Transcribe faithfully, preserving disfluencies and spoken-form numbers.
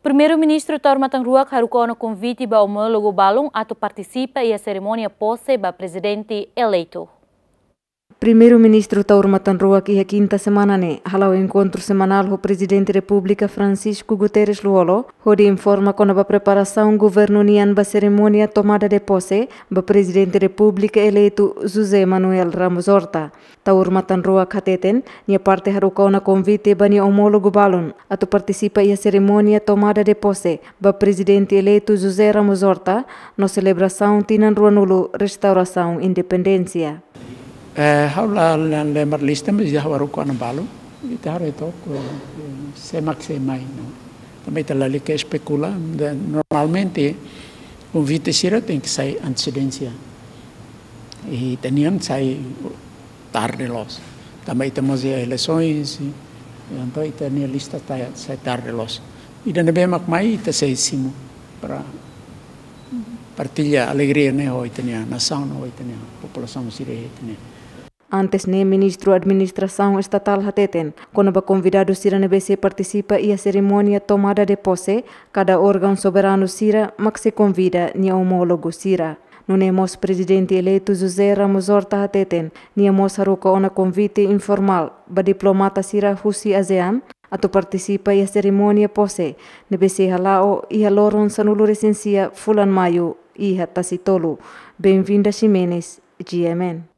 Primeiru-Ministru Taur Matan Ruak haruka ona konvite ba omólogu balun atu partisipa iha serimónia pose ba Prezidente eleitu. Primeiru-Ministru Taur Matan Ruak iha kinta semana ne'e hala'o enkontru semanál ho Prezidente Repúblika Francisco Guterres Lú-Olo, hodi informa kona-ba preparasaun governu nian ba serimónia tomada de posse ba Prezidente Repúblika eleitu José Manuel Ramos Horta. Taur Matan Ruak hateten, nia parte haruka ona konvite ba nia omólogu balun atu partisipa iha serimónia tomada de posse ba Prezidente eleitu José Ramos Horta no selebrasaun tinan ruanulu restaurasaun independénsia. Eh, ha'u la, la, la marka lista, mas ha'u haruka ona balun. Ita haree took, eh, sé mak sei mai, no. Tanba ita lalika espekula, de, normalmente konvite sira tenke sai antesedénsia. I ita-nian sai tarde loos. Tanba ita mós iha eleisoens, i entaun ita-nia lista ta-, sai tarde loos. Ida ne'ebé mak mai ita sei simu para partilla alegria ne'e ho ita-nia nasaun, ho ita-nia populasaun sira, ita-nia. Antes ne'e, Ministru Administrasaun Estatál hateten, kona-ba konvidadu sira ne'ebé sei partisipa iha serimónia tomada de posse, kada órgaun soberanu sira mak sei konvida nia omólogu sira. Nune'e mós Prezidente eleitu José Ramos Horta hateten, nia mós haruka ona konvite informál ba diplomata sira husi ASEAN atu partisipa iha serimónia pose ne'ebé sei hala'o iha loron sanulu-resin-sia fulan Maiu iha Tasitolu. Benvinda Ximenes, G M N.